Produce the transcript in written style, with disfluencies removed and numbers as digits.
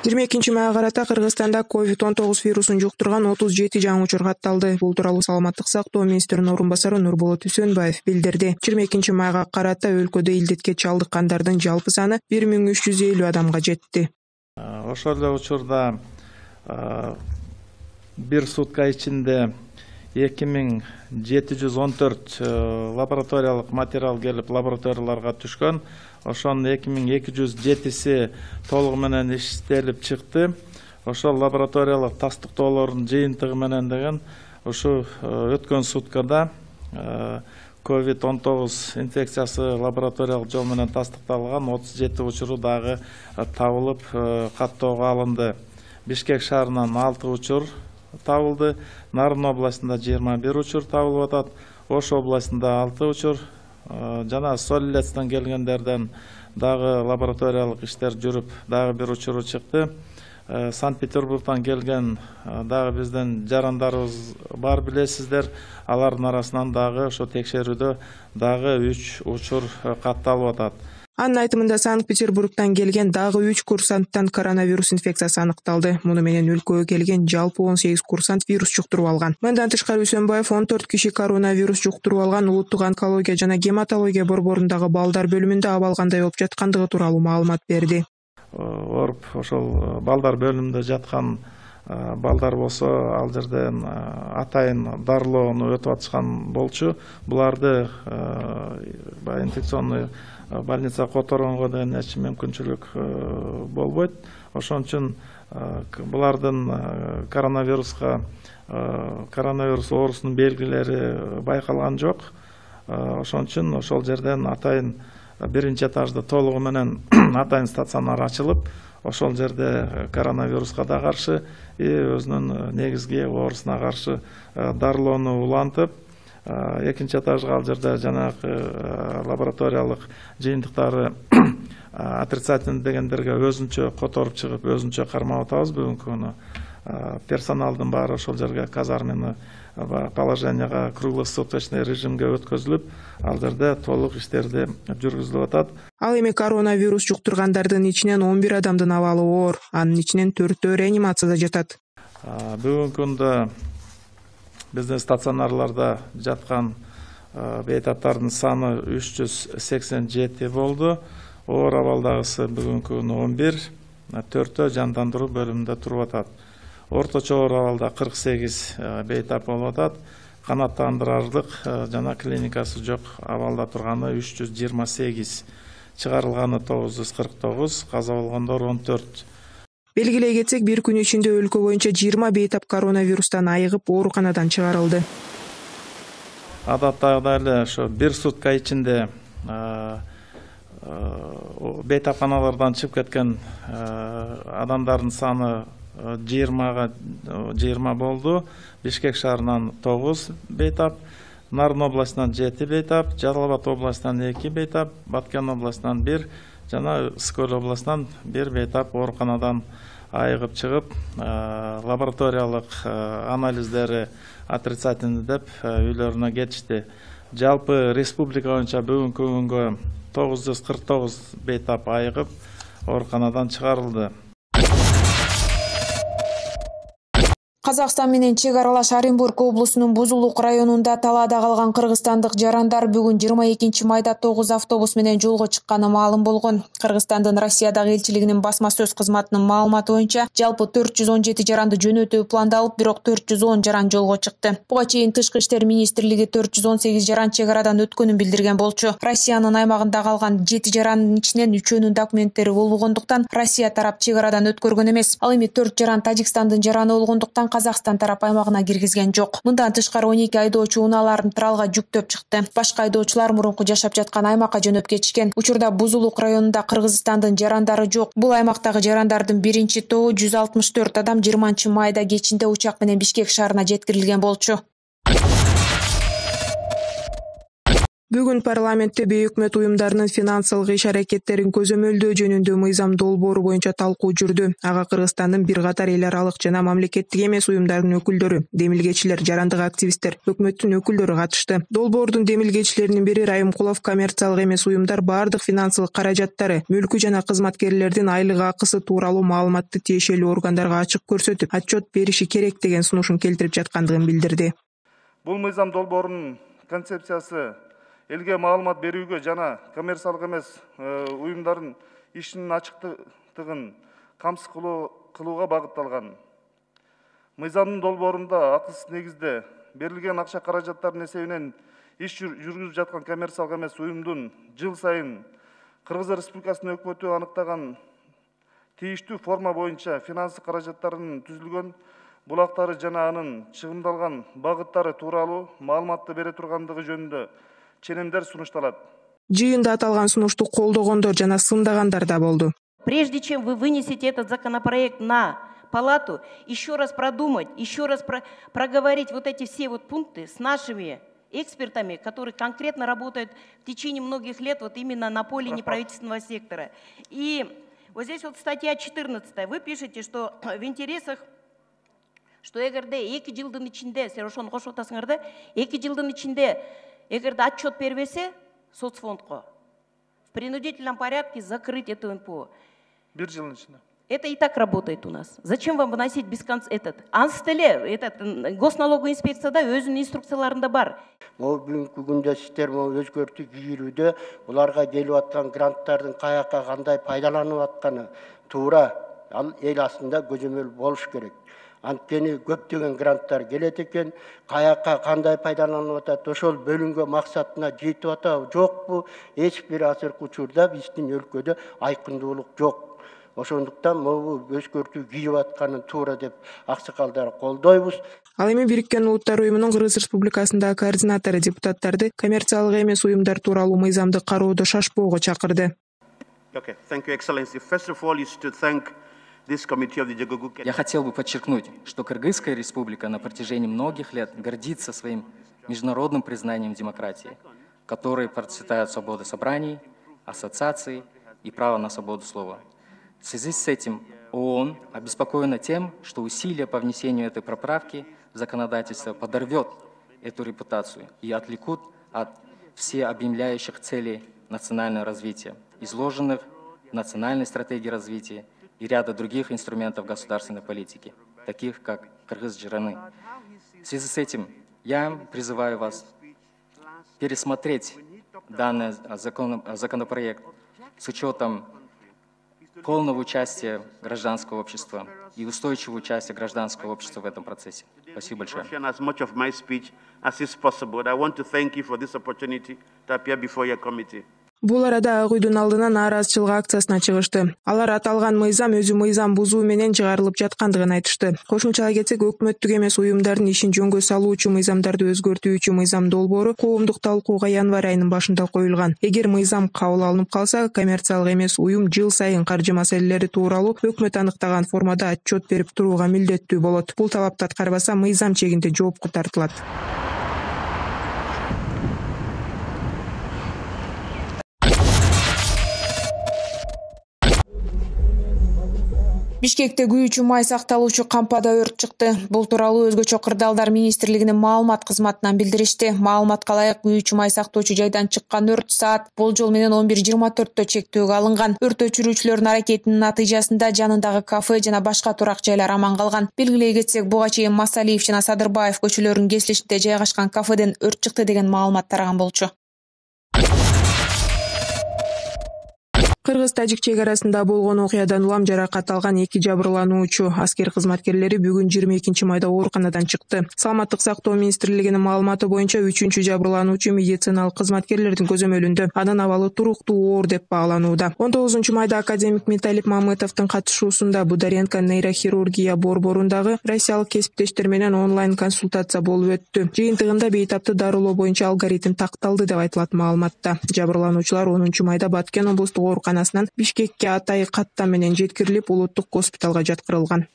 22 майга карата Кыргызстанда COVID-19 вирусун жуктурган 37 жаңы учур катталды. Бул тууралуу Саламаттык сактоо министринин орун басары Нурболот Үсөнбаев билдирди. 22 майга карата өлкөдө илдетке чалдыккандардын жалпы саны 1350 адамга жетти. Ошол эле учурда бир сутка ичинде 2714 лабораториялык материал келип лабораторияларга түшкөн. Ошонун 2207си толугу менен иштелип чыкты. Ошол лабораториялык тастыктоолордун жыйынтыгы менен деген ушу өткөн суткада COVID-19 инфекциясы лабораториялык жол менен тастыкталган 37 учуру дагы табылып каттоого алынды. Бишкек шаарынан 6 учур табылды. Нарын областында 21 учур табылып атат. Ош областында 6 учур. Жана Солилецтен келгендерден дагы лабораториялык иштер жүрүп, дагы бир учуру чыкты. Санкт-Петербургдан келген дагы биздин жарандарыбыз бар билесиздер. Алардын арасынан дагы ошо текшерүүдө дагы 3 учур катталып атат. Анын айтымында Санкт-Петербургдан келген дагы 3 курсанттан коронавирус инфекциясы аныкталды. Муну менен өлкөгө келген жалпы 18 курсант вирус жуктуруп алган. Мындан тышкары Үсөнбаев 14 киши коронавирус жуктуруп алган улуттук онкология жана гематология борборундагы балдар бөлүмүндө абалгандай болуп жаткандыгы тууралуу маалымат берди. Оруп ошол балдар бөлүмүндө жаткан балдар болсо ал жерден атайын дарылоону өтүп атышкан болчу. Буларды инфекционный больница которгонго деген эч мүмкүнчүлүк болбойт. Ошон үчүн булардын коронавирус оорусунун белгилери байкалган жок. Ошон үчүн ошол жерден атайын биринчи этажда толугу менен атайын стационар ачылып, ошол жерде коронавируска да каршы өзүнүн негизги оорусуна каршы дарылоону улантып, экинчи этажга ал жерде жанагы лабораториялык жыйынтыктары отрицательный дегендерге өзүнчө которуп чыгып, өзүнчө кармап атабыз. Бүгүнкү күнү персоналдын баары ошол жерге казармени положенияга круглосуточный режимге өткөзүлүп, ал жерде толук иштерди жүргүзүлүп атат. Ал эми коронавирус жуктургандардын ичинен 11 адамдын абалы оор, анын ичинен 4-өө реанимацияда жатат. Бүгүнкү күндө биздин стационарларда жаткан бейтаптардын саны 387 болду. Оор абалдагысы бүгүнкү күнү 11, 4-өө жандандыруу бөлүмүндө туруп атат. Орточо оор абалда 48 бейтап болуп атат. Канааттандырарлык жана клиникасы жок абалда турганы 328, чыгарылганы 949, каза болгондор 14. Белгилей кетсек, бир күн ичинде өлкө боюнча 20 бейтап коронавирустан айыгып, ооруканадан чыгарылды. Адаттагыдай эле ошо бир сутка ичинде бейтапканалардан чыгып кеткен адамдардын саны 20 болду. Бишкек шаарынан 9 бейтап, Нарын областынан 7 бейтап, Жалал Абад областынан 2 бейтап, Баткен областынан 1 жана Скөл областынан 1 бейтап ооруканадан айыгып чыгып, лабораториялык анализдери отрицательный деп үйлөрүнө кетишти. Жалпы республика боюнча бүгүнкү күнгө 949 бейтап айыгып ооруканадан чыгарылды. Казакстан менен чек аралаш Оренбург облусунун Бузулук районунда талаада калган кыргызстандык жарандар бүгүн 22 майда 9 автобус менен жолго чыкканы маалым болгон. Кыргызстандын Россиядагы элчилигинин басма сөз кызматынын маалыматы боюнча жалпы 417 жаранды жөнөтүү пландалып, бирок 410 жаран жолго чыкты. Буга чейин Тышкы иштер министрлиги 418 жаран чек арадан өткөнүн билдирген болчу. Россиянын аймагында калган 7 жарандын ичинен 3-өөнүн документтери болбогондуктан Россия тарап чек арадан өткөргөн эмес. Ал эми 4 жаран Тажикстандын жараны болгондуктан Казакстан тарап аймагына киргизген жок. Мындан тышкары 12 айдоочу унааларын тралга жүктөп чыкты. Башка айдоочулар мурунку жашап жаткан аймакка жөнөп кетишкен. Учурда Бузулук районунда Кыргызстандын жарандары жок. Бул аймактагы жарандардын биринчи тобу 164 адам 20 майда кечинде учак менен Бишкек шаарына жеткирилген болчу. Бүгүн парламентте бейөкмөт уюмдарынын финансылык иш-аракеттерин көзөмөлдөө жөнүндө мыйзам долбоору боюнча талкуу жүрдү. Ага Кыргызстандын бир катар эл аралык жана мамлекеттик эмес уюмдардын өкүлдөрү, демилгечилер, жарандык активисттер, өкмөттүн өкүлдөрү катышты. Долбоордун демилгечилеринин бири Райымкулов коммерциялык эмес уюмдар баардык финансылык каражаттары, мүлкү жана кызматкерлердин айлык акысы тууралуу маалыматты тиешелүү органдарга ачык көрсөтүп, отчет бериши керек деген сунушун келтирип жаткандыгын билдирди. Бул мыйзам долбоорунун концепциясы элге маалымат берүүгө жана коммерциялык эмес уюмдардын ишинин ачыктыгын камсыз кылууга багытталган. Мыйзамдын долбоорунда акысыз негизде берилген акча каражаттарынын эсебинен иш жүргүзүп жаткан коммерциялык эмес уюмдун жыл сайын Кыргыз Республикасынын өкмөтү аныктаган тийиштүү форма боюнча финансы каражаттарынын түзүлгөн булактары жана анын чыгымдалган багыттары тууралуу маалыматты бере тургандыгы жөнүндө ченемдер сунушталат. Жыйында аталган сунушту колдогондор жана сындагандар да болду. Прежде чем вы вынесете этот законопроект на палату, еще раз продумать, еще раз проговорить вот эти все вот пункты с нашими экспертами, которые конкретно работают в течение многих лет вот именно на поле неправительственного сектора. И вот здесь вот статья 14, вы пишете, что в интересах, что эгерде 2 жылдын ичинде, сен ошону кошуп атасыңар да, 2 жылдын ичинде эгерде отчет бербесе соцфондко, в принудительном порядке закрыть эту НПО. 1 жылдын ичинде. Это и так работает у нас. Зачем вам выносить без конца этот? Анстеле, этот госналоговая инспекция да өзүнүн инструкцияларында бар. Могу бүгүнкү күндө сиздер могу өзгөртүү кийүүдө буларга келип аткан гранттардын каяка кандай пайдаланып атканы туура ал эл астында көзөмөл болуш керек. Анткени көптөгөн гранттар келет экен, каяка кандай пайдаланып атат, ошол бөлүнгөн максатына жетип атабы, жокпу? Эч бир азыркы учурда биздин өлкөдө айкындуулук жок. Ошондуктан могу өзгөртүү кийип атканын туура деп аксакалдар колдойбуз. Ал эми Бириккен Улуттар уюмунун Кыргыз Республикасындагы координатору депутаттарды коммерциялык эмес уюмдар тууралуу мыйзамды кароодо шашпоого чакырды. Okay, thank you, Excellency. First of all, is to thank this committee of the Jagugu. Я хотел бы подчеркнуть, что Кыргызская республика на протяжении многих лет гордится своим международным признанием демократии, в которой процветают свобода собраний, ассоциаций и право на свободу слова. В связи с этим ООН обеспокоена тем, что усилия по внесению этой поправки в законодательство подорвет эту репутацию и отвлекут от всеобъемляющих целей национального развития, изложенных в национальной стратегии развития и ряда других инструментов государственной политики, таких как Кыргыз-Жираны. В связи с этим я призываю вас пересмотреть данный законопроект с учетом полного участия гражданского общества и устойчивого участия гражданского общества в этом процессе. Спасибо большое. As much of my speech as is possible. I want to thank you for this opportunity to appear before your committee. Бул арада Ак үйдүн алдына нааразычылык акциясына чыгышты. Алар аталган мыйзам өзү мыйзам бузуу менен чыгарылып жаткандыгын айтышты. Кошумчалай кетсек, өкмөттүк эмес уюмдардын ишин жөнгө салуучу мыйзамдарды өзгөртүүчү мыйзам долбоору коомдук талкууга январь айынын башында коюлган. Эгер мыйзам кабыл алынып калса, коммерциялык эмес уюм жыл сайын каржы маселелери тууралуу өкмөт аныктаган формада отчет берип турууга милдеттүү болот. Бул талапты аткарбаса, мыйзам чегинде жоопко тартылат. Бишкекте күйүүчү май сакталуучу кампада өрт чыкты. Бул тууралуу Өзгөчө кырдаалдар министрлигинин маалымат кызматынан билдиришти. Маалыматка ылайык, күйүүчү май сактоочу жайдан чыккан өрт саат болжол менен 11:24 чектөөгө алынган. Өрт өчүрүүчүлөрдүн аракетинин натыйжасында жанындагы кафе жана башка турак жайлар аман калган. Белгилей кетсек, буга чейин Масалиев жана Садырбаев көчөлөрүнүн кесилишинде жайгашкан кафеден өрт чыкты деген маалымат тараган болчу. Кыргыз-тажик чек арасында болгон окуядан улам жаракат алган 2 жабырлануучу аскер кызматкерлери бүгүн 22 майда ооруканадан чыкты. Саламаттык сактоо министрлигинин маалыматы боюнча 3-чү жабырлануучу медициналык кызматкерлердин көзөмөлүндө. Анын абалы туруктуу оор деп бааланууда. 19 майда академик Металип Мамытовдун катышуусунда Бударенко нейрохирургия борборундагы россиялык кесиптештер менен онлайн консультация болуп өттү. Жыйынтыгында бейтапты дарылоо боюнча алгоритм такталды деп айтылат маалыматта. Жабырлануучулар 10 майда Баткен облустук ооруканасынан Бишкекке Атай каттам менен жеткирилип, улуттук госпиталга жаткырылган.